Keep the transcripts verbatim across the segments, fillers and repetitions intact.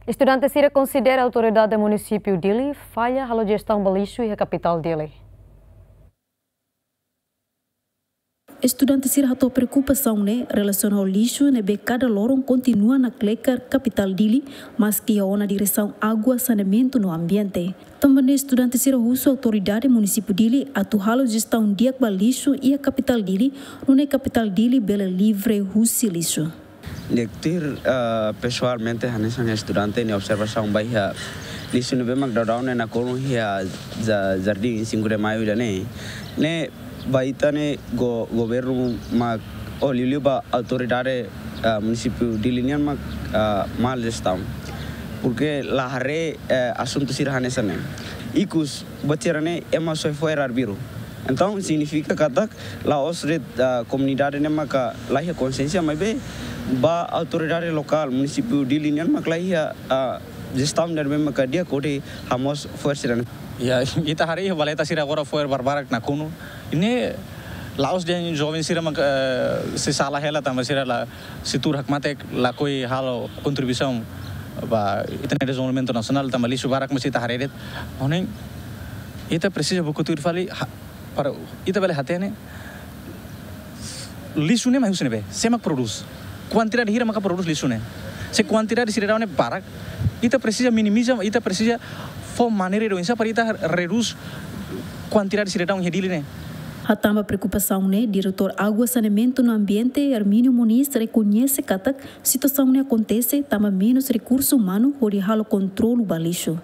Estudante sira konsidera autoridade munisípiu Dili falla halo jestaun ba lixu iha kapitál Dili. Estudante sira hato'o preokupasaun ne'e relasiona ho lixu ne'ebé kada loron kontinua nakleker kapitál Dili, maski iha ona diresaun água, saneamentu no ambiente. Tanba ne'e estudante sira husu autoridade munisípiu Dili atu halo jestaun di'ak ba lixu iha kapitál Dili, nune'e kapitál Dili bele livre husi lixu. Di'ak tuir, ah, pesoalmente hanesan estudante nia observasaun ba iha lixu ne'ebé mak daudaun ne'e nakonu iha ja-, Jardín Cinco de Maio ida-ne'e. Ne'e ba ita ne'e go-, governu mak, ou liuliu ba autoridade, ah, munisípiu Dili nian mak, ah, mal jestaun. Porke la haree, eh, asuntu sira hanesan ne'e. Ikus buat sira ne'e ema soe fo'er arbiru. Entaun signifika katak la'ós de'it, ah, komunidade ne'e maka la iha konsiénsia, maibé ba autoridade lokál munisípiu Dili nian mak la iha, ah, jestaun ne'ebé maka di'ak hodi hamoos fo'er sira-ne'e. Ya, ita haree iha valeta sira agora fo'er barbarak nakonu. Ne'e la'ós de'it joven sira maka, eh, sei sala hela tanba sira la, sei tuur hakmatek, lakohi halo kontribuisaun ba ita-nia dezenvolvimentu nasionál tanba lixu barak mós ita haree de'it. Ohin ita presiza buka tuir fali ha-, para ita bele hatene lixu ne'e mai husi ne'ebé, sé mak prodús. Kuantidade hira maka prodús lixu ne'e. Se kuantidade sira daudaun ne'e barak, ita presiza minimiza, ita presiza fó maneira ida oinsá para ita redús kuantidade sira daudaun iha Dili ne'e. Hatán ba preokupasaun ne'e, Diretór Água, Saneamentu no Ambiente, Hermínio Moniz, rekoñese katak situasaun ne'e akontese tanba menus rekursu umanu hodi halo kontrolu ba lixu.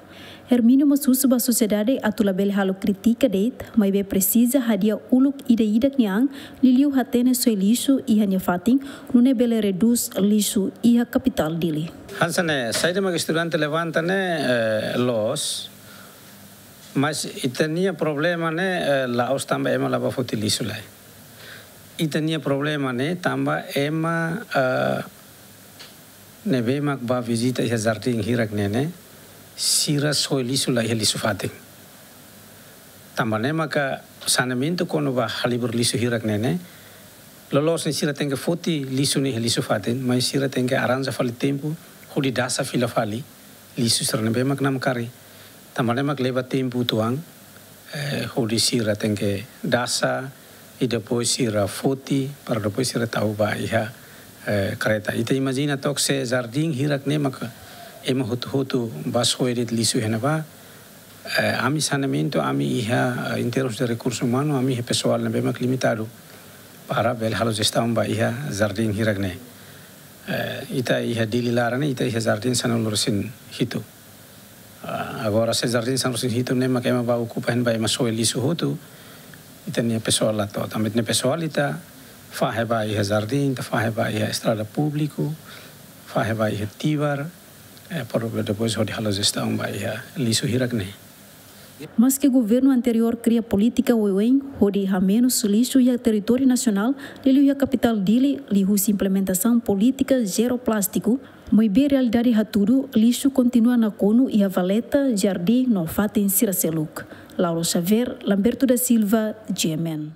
Hermínio mós husu ba sosiedade atu labele halo kritika de'it, maibé presiza hadi'a uluk ida-idak nia an, liuliu hatene soe lixu iha nia fatin, nune'e bele redús lixu iha kapitál Dili. Hanesan ne'e, saida mak estudante levanta ne'e, eh, loos, mas ita-nia problema ne'e, eh, la'ós tanba ema la bá foti lixu lai. Ita-nia problema ne'e tanba ema, eh, ne'ebé mak bá vizita iha jardín hirak ne'e ne'e, sira soe lixu lai iha lixu fatin. Tanba ne'e maka saneamentu kona-ba halibur lixu hirak ne'e ne'e, loloos ne'e sira tenke foti lixu ne'e iha lixu fatin, mas sira tenke arranja fali tempu, hodi dasa fila fali lixu sira ne'ebé mak namkari. Tanba ne'e mak leba tempu uitoan, eh, hodi sira tenke dasa, i depois sira foti, para depois sira tau ba iha, eh, kareta. Ita imajina took se jardín hirak ne'e maka ema hotu-hotu bá soe de'it lixu iha ne'ebá. Eh, ami saneamentu, ami iha, eh, em termos de recurso humano, ami iha pesoál ne'ebé mak limitadu para bele halo jestaun ba iha jardín hirak ne'e. Eh, ita iha Dili laran ne'e, ita iha jardín sanulu-resin-hitu. Ah, agora se jardín sanulu-resin-hitu ne'e mak ema bá okupa iha ne'ebá, ema soe lixu hotu, ita-nia pesoál la to'o. Tanba ita-nia pesoál ita fahe ba iha jardín, ita fahe ba iha estrada públiku, fahe ba iha tibar, eh, para depois hodi halo jestaun ba iha lixu hirak ne'e. Maski governu anteriór kria polítika oioin hodi hamenus lixu iha territóriu nasionál, liuliu iha kapitál Dili, liuhusi implementasaun polítika zero plástiku, maibé realidade hatudu lixu kontinua nakonu iha valeta, jardín no fatin sira seluk. Laura Xavier, Lamberto da Silva, G M N.